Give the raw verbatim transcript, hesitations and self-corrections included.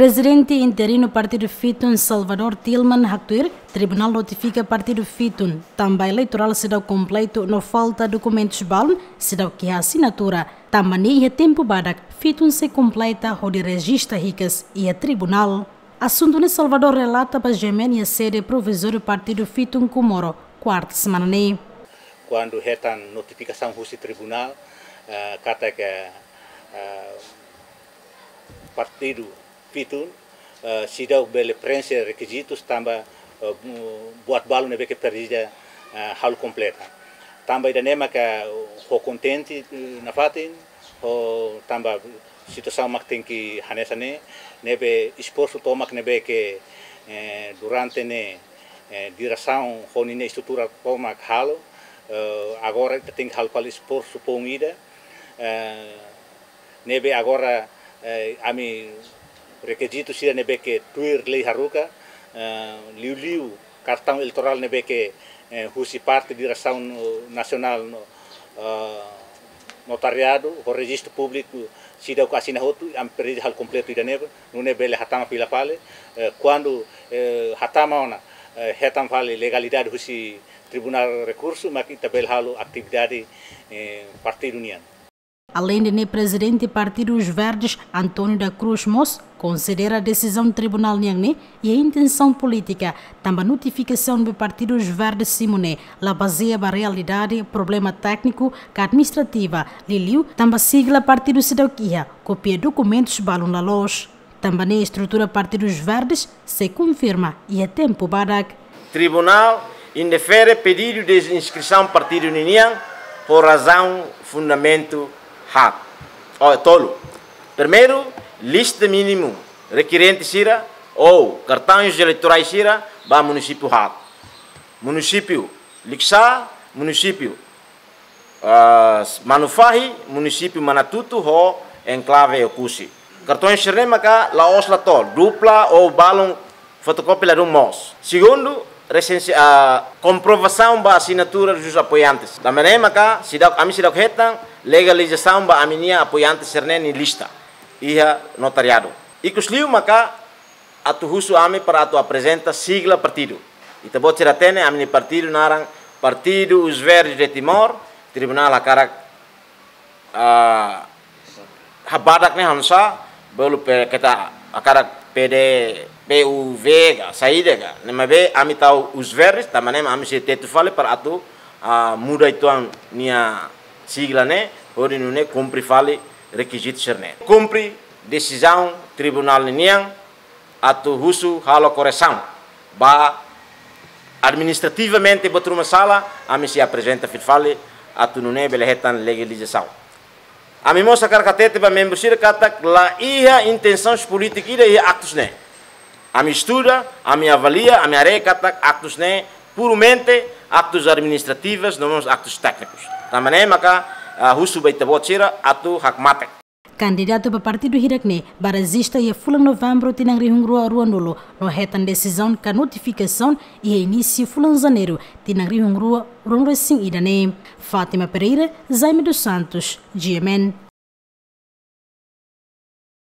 Prezidente interinu Partidu Fitun, Salvador Tilman, haktuir, tribunál notifika Partidu Fitun, tanba eleitorál seidauk kompletu no falta dokumentus balun, seidauk iha asinatura, tanba ne'e iha tempu badak, Fitun sei kompleta hodi rejista hikas iha tribunál. Asuntu ne'e Salvador relata ba G M N iha sede provizóriu Partidu Fitun Comoro, kuarta semana ne'e. Kuandu hetan notifikasaun husi tribunál, eh, katak, eh, partidu Fitun, eh, seidauk bele preenxe rekizitus tanba, eh, bu-, buat balu ne'ebé ke presiza, eh, halo kompleta. Tanba ida-ne'e maka ho kontente, eh, nafatin, ho tanba situasaun mak tenke hanesan ne'e, ne'ebé esforsu tomak ne'ebé ke, eh, durante ne'e, eh, diresaun ho ninia estrutura tomak halo, eh, agora ita tenke halo fali esforsu foun ida, eh, ne'ebé agora, eh, ami rekizitu sira ne'ebé ke tuir lei haruka, eh, liuliu kartaun eleitorál ne'ebé ke, eh, husi parte diresaun, eh, nasionál no, eh, notariadu, ho rejistu públiku seidauk asina hotu, ami presiza halo kompletu ida-ne'e, nune'e bele hatama fila fali, eh, kuandu, eh, hatama ona, eh, hetan fali legalidade husi Tribunál Rekursu, mak ita bele halo atividade, eh, partidu nian. Aleinde ne'e, prezidente Partidu Os Verdes, António da Cruz mós, konsidera desizaun tribunál nian ne'e iha intensaun polítika, tanba notifikasaun ba Partidu Os Verdes simu ne'e la bazeia ba realidade, problema tékniku ka administrativa, liuliu tanba sigla partidu seidauk iha, kópia dokumentus balun la loos. Tanba ne'e estrutura Partidu Os Verdes sei konfirma iha tempu badak. Tribunál indefere pedidu de inskrisaun partidu ninian ho razaun fundamentu haat. Oh, tolu. Primeiru, lista mínimu rekirente sira ou kartaun eleitorál sira ba munisípiu haat. Munisípiu Likisá, munisípiu ah, Manufahi, munisípiu Manatutu ho enklave Oekusi. Kartaun sira-ne'e maka la'ós la to'o, dupla ou balun fotokópia ladún moos. Segundu, resensi-, ah, komprovasaun ba asinatura dos apoiantes. Tanba ne'e maka seidauk, ami seidauk hetan legalizasaun ba ami-nia apoiante sira-ne'e nia lista iha notariadu. Ikus liu maka atu husu ami para atu aprezenta sigla partidu. Ita-boot sira hatene ami-nia partidu naran Partidu Os Verdes de Timor, tribunál hakarak, ah, habadak ne'e hanesan, bolu pe keta hakarak P D, P U V ka, saida ka. Ne'e maibé ami tau Os Verdes, tanba ne'e ami sei tetu fali para atu, ah, muda uitoan nia sigla ne'e, hodi nune'e kumpre fali rekizitu sira-ne'e. Kumpre desizaun tribunál ninian, atu husu halo koresaun. Ba administrativamente buat ruma sala, ami sei aprezenta fila fali atu nune'e bele hetan legalizasaun. Ami mós hakarak hatete ba membru sira katak la iha intensaun polítika ida iha aktus ne'e. Ami estuda, ami avalia, ami haree katak aktus ne'e puramente aktus administrativus, no mós aktus téknikus. Tanba ne'e maka, ah, husu ba ita-boot sira atu hakmatek. Kandidatu ba partidu hirak ne'e bá rejista iha fulan Novembru tinan rihun rua ruanulu, no hetan desizaun ka notifikasaun iha inísiu fulan Janeiru tinan rihun rua ruanulu-resin-ida ne'e. Fátima Pereira, Jaime dos Santos, G M N.